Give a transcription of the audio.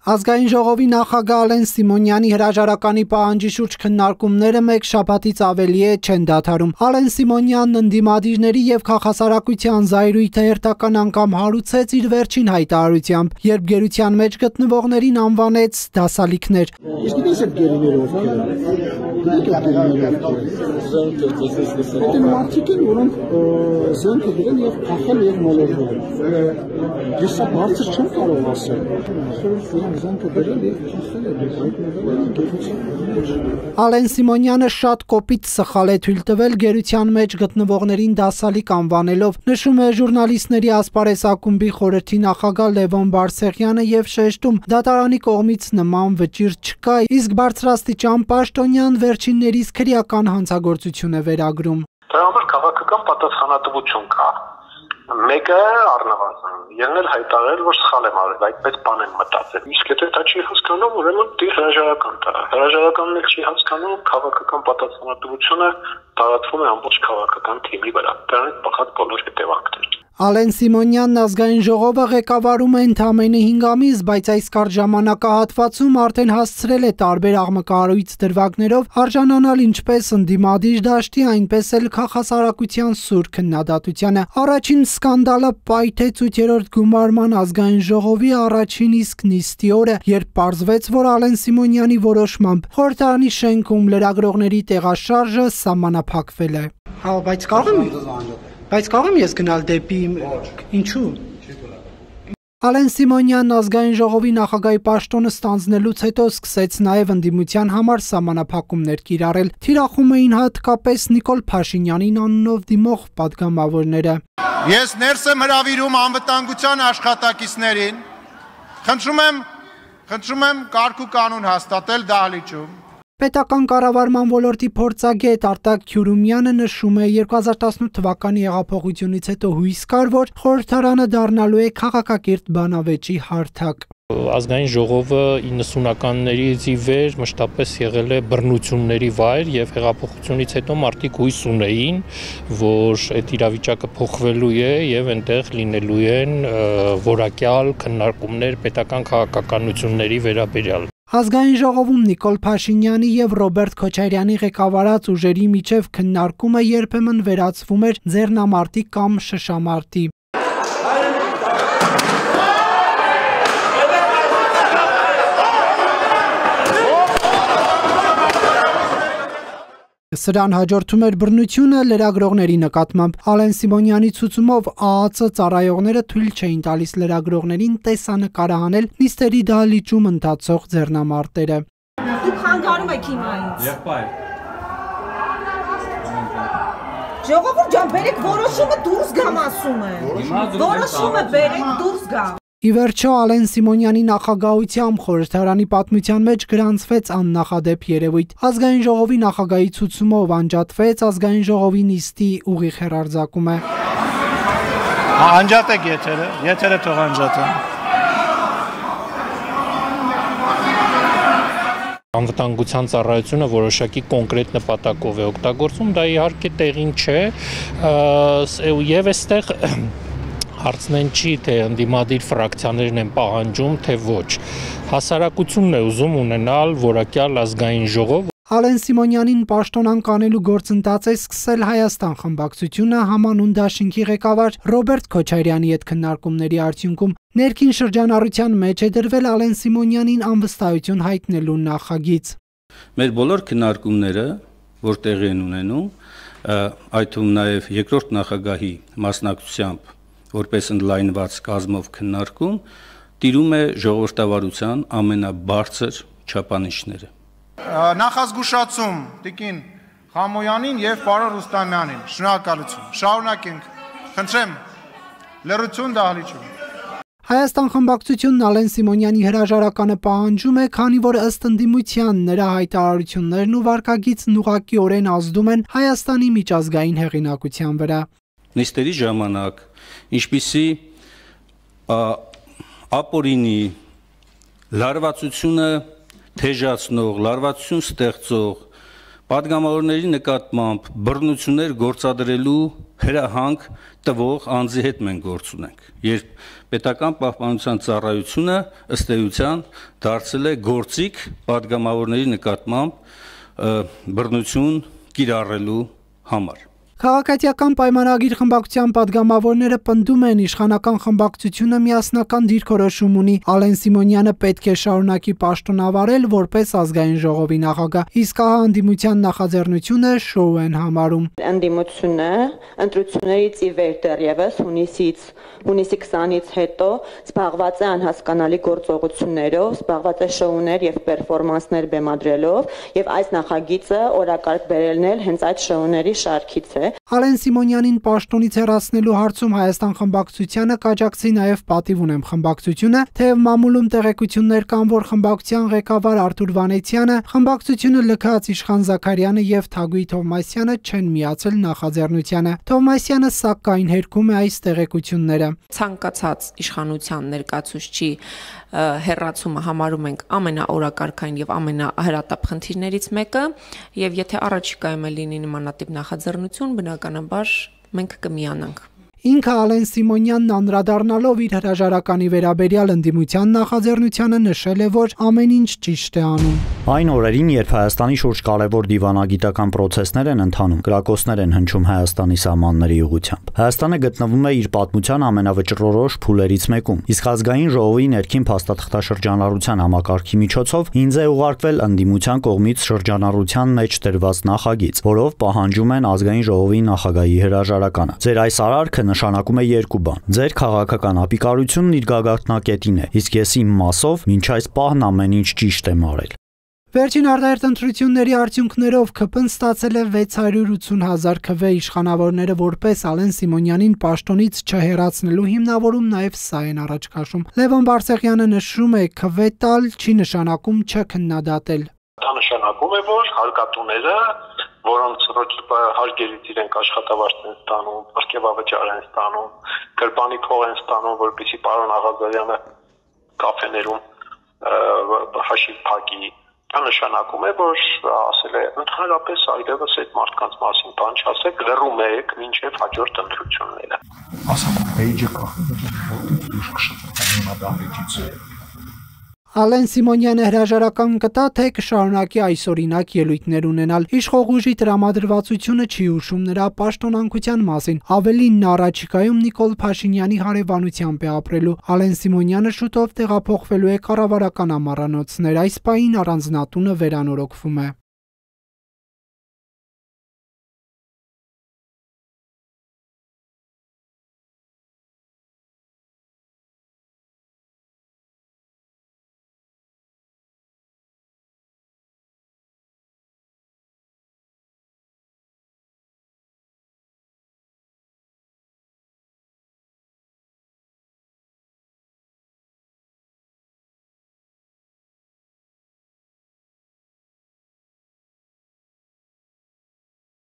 Ազգային ժողովի նախագահ Ալեն Սիմոնյանի հրաժարականի պահանջի շուրջ քննարկումները մեկ շաբաթից ավելի չեն դադարում։ Ալեն Սիմոնյանն ընդդիմադիրների եւ քաղաքասարակության զայրույթը հերթական անգամ հարուցեց իր վերջին հայտարարությամբ, երբ գերության մեջ գտնվողներին անվանեց դասալիքներ։ Ալեն Սիմոնյանը շատ կոպիտ սխալ է թույլ տվել գերության մեջ գտնվողներին դասալիկ անվանելով, նշում է ժուրնալիստների ասպարեզ ակումբի խորհրդի նախագահ Լևոն Բարսեղյանը եւ շեշտում, դատարանի կողմից նման վճիռ չկա, իսկ բարձրաստիճան պաշտոնյան վերջիններիս քրեական հանցագործություն է վերագրում։ Դրա համար քաղաքական պատասխանատվություն կա։ Մեկը առնվազն ելնել հայտարարել, որ սխալ եմ արել, այդպես բան եմ մտածել։ Իսկ եթե դա չի հասկանում, ուրեմն դի հրաժարական տա։ Հրաժարականն էլ չի հասկանում, քաղաքական պատասխանատվությունը տարածվում է ամբողջ քաղաքական թիմի վրա։ Դրանից բխած բոլոր հետևանքներ։ Ալեն Սիմոնյանն ազգային ժողովը ղեկավարում է ընդամենը 5 ամիս, բայց այս կարճ ժամանակահատվածում արդեն հասցրել է տարբեր աղմկահարույց դրվագներով արժանանալ ինչպես ընդդիմադիր դաշտի, այնպես էլ քաղաքասարակության սուր քննադատությանը։ Առաջին սկանդալը պայթեց 8-րդ գումարման ազգային ժողովի առաջին իսկ նիստի օրը, երբ պարզվեց, որ Ալեն Սիմոնյանի որոշմամբ խորհրդարանի շենքում լրագրողների տեղաշարժը սահմանափակվել է։ Բայց կարող եմ ես գնալ դեպի ինչու։ Ալեն Սիմոնյանն ազգային ժողովի նախագահի պաշտոնը ստանձնելուց հետո սկսեց նաև ընդդիմության համար սահմանափակումներ կիրառել։ Թիրախում էին հատկապես Նիկոլ Փաշինյանին անունով դիմող պատգամավորները։ Ես ներս եմ հրավիրում անվտանգության աշխատակիցներին։ Խնդրում եմ կարգ ու կանոն հաստատել դահլիճում։ Պետական կառավարման ոլորտի փորձագետ Արտակ Քյուրումյանը նշում է 2018 թվականի հեղափոխությունից հետո հույս կար, որ խորհրդարանը դառնալու է քաղաքակիրթ բանավեճի հարթակ։ Ազգային ժողովը 90-ականներից ի վեր մշտապես եղել է բռնությունների վայր եւ հեղափոխությունից հետո մարդիկ հույս ունեին, որ այդ իրավիճակը փոխվելու է եւ այնտեղ լինելու են որակյալ քննարկումներ պետական քաղաքականությունների վերաբերյալ։ Ազգային ժողովում Նիկոլ Փաշինյանի եւ Ռոբերտ Քոչարյանի ղեկավարած ուժերի միջև քննարկումը երբեմն վերածվում էր ձեռնամարտի կամ շշամարտի։ Սրան հաջորդում էր բռնությունը լրագրողների նկատմամբ։ Ալեն Սիմոնյանի ցուցումով ԱԱՑ ծառայողները թույլ չէին տալիս լրագրողներին տեսանկարահանել նիստերի դահլիճում ընթացող ձեռնամարտերը։ Դուք խանգարում եք հիմա ինձ։ Եղբայր։ Ժողովուրդ ջան, բերեք որոշումը դուրս գամ ասում եմ։ Որոշումը բերեք դուրս գամ։ Ի վերջո Ալեն Սիմոնյանի նախագահությամբ խորհրդարանի պատմության մեջ գրանցվեց աննախադեպ երևույթ։ Ազգային ժողովի նախագահի ցուցումով անջատվեց ազգային ժողովի նիստի ուղիղ հեռարձակումը։ Անջատեք եթերը թող անջատեն։ Անվտանգության ծառայությունը որոշակի կոնկրետ նպատակով է օգտագործում, դա իհարկե տեղին չէ, եւ այստեղ հարցնեն չի, թե ընդդիմադիր ֆրակցիաներն են պահանջում, թե ոչ։ Հասարակությունն է ուզում ունենալ որակյալ ազգային ժողով։ Ալեն Սիմոնյանին պաշտոնանկ անելու գործընթաց է սկսել Հայաստան խմբակցությունը համանուն դաշինքի ղեկավար Ռոբերտ Քոչարյանի հետ քննարկումների արդյունքում ներքին շրջանառության մեջ է դրվել Ալեն Սիմոնյանին անվստահություն հայտնելու նախագիծ։ Մեր բոլոր քննարկումները, որ տեղի են ունենում, այդ թվում նաև երկրորդ նախագահի մասնակցությամբ որպես ընդլայնված կազմով քննարկում, տիրում է ժողովրդավարության ամենաբարձր չափանիշները։ Նախազգուշացում տիկին Խամոյանին եւ պարոն Ռուստամյանին։ Շնորհակալություն։ Շարունակենք։ Խնդրեմ, լրություն դահլիճում։ Հայաստան խմբակցությունն Ալեն Սիմոնյանի հրաժարականը պահանջում է, քանի որ ըստ ընդդիմության նրա հայտարարություններն ու վարքագիծն ուղղակիորեն ազդում են Հայաստանի միջազգային հեղինակության վրա։ Նիստերի ժամանակ ինչպիսի ապօրինի լարվածությունը թեժացնող, լարվածություն ստեղծող Պատգամավորների նկատմամբ բռնություններ գործադրելու հրահանգ տվող անձի հետ մենք գործ ունենք, երբ պետական պահպանության ծառայությունը ըստ էության դարձել է գործիք պատգամավորների նկատմամբ բռնություն կիրառելու համար։ Քաղաքացիական պայմանագիր խմբակցության падգամավորները պնդում են իշխանական խմբակցությունը միասնական դիրքորոշում ունի, Ալեն Սիմոնյանը պետք է շարունակի պաշտոնավարել որպես ազգային ժողովի նախագահ, իսկ ահա ընդդիմության նախաձեռնությունը շոու են համարում։ Ընդդիմությունը ընտրություններից ի վեր դեռևս հունիսի 20-ից հետո զբաղված է անհասկանալի գործողություններով, զբաղված է շոուներ եւ պերֆորմանսներ բեմադրելով, եւ այս նախագիծը օրակարգ բերելն էլ հենց այդ շոուների շարքից է։ Ալեն Սիմոնյանին պաշտոնից հեռացնելու հարցում Հայաստան խմբակցությանը կաջակցի նաև Պատիվ ունեմ խմբակցությունը, թեև մամուլում տեղեկություններ կան, որ խմբակցության ղեկավար Արթուր Վանեցյանը, խմբակցությունը լքած Իշխան Զաքարյանը եւ Թագուհի Թովմասյանը չեն միացել նախաձեռնությանը։ Թովմասյանը սակայն հերքում է այս տեղեկությունները։ Ցանկացած իշխանության ներկայացուցչի հեռացումը համարում ենք ամենաօրակարգային եւ ամենահրատապ խնդիրներից մեկը, եւ եթե առաջիկայում լինի նմանատիպ նախաձեռնություն, բնականաբար մենք կմիանանք։ Ինքը Ալեն Սիմոնյանն անդրադառնալով իր հրաժարականի վերաբերյալ ընդդիմության նախաձեռնությանը նշել է, որ ամեն ինչ ճիշտ է անում։ Այն օրերին, երբ Հայաստանի շուրջ կարևոր դիվանագիտական պրոցեսներ են ընթանում, կրակոցներ են հնչում Հայաստանի սահմանների ուղղությամբ։ Հայաստանը գտնվում է իր պատմության ամենավճռորոշ փուլերից մեկում, իսկ ազգային ժողովի ներքին փաստաթղթաշրջանառության համակարգի միջոցով ինձ է ուղարկվել ընդդիմության կողմից շրջանառության մեջ դրված նախագիծ, որով պահանջում են ազգային ժողովի նախագահի հրաժարականը։ Ձեր այս արարքը նշանակում է երկու բան։ Ձեր քաղաքական ապիկարությունն իր գագաթնակետին է, իսկ ես իմ մասով մինչ այս պահն ամեն ինչ ճիշտ եմ արել։ Վերջին արտահերթ ընտրությունների արդյունքներով ԿՊ-ն ստացել է 680,000 քվ իշխանավորները որպես Ալեն Սիմոնյանին պաշտոնից չհեռացնելու հիմնավորում նաև սա են առաջ քաշում։ Լևոն Բարսեղյանը նշում է, քվ տալ չի նշանակում չքննադատել։ Դա նշանակում է, որ հարկատուները, որոնց ռոճիպը հարգերից իրենք աշխատավարձ են ստանում, պրկեվավճար են ստանում, գրպանի փող են ստանում, որպեսզի պարոն Աղազարյանը կաֆեներում հաշիվ փակի։ Դա նշանակում է, որ ասել է ընդհանրապես այլևս այդ մարդկանց մասին բան չասեք, լռում եք մինչև հաջորդ ընտրությունները։ Ասում էջը կախ Ալեն Սիմոնյանը հրաժարական կտա, թե կշարունակի այսօրինակ ելույթներ ունենալ։ Իշխող ուժի տրամադրվածությունը չի հուշում նրա պաշտոնանկության մասին։ Ավելին, նա առաջիկայում Նիկոլ Փաշինյանի հարևանությամբ է ապրելու։ Ալեն Սիմոնյանը շուտով տեղափոխվելու է կառավարական ամառանոցներ։ Այս պահին առանձնատունը վերանորոգվում է։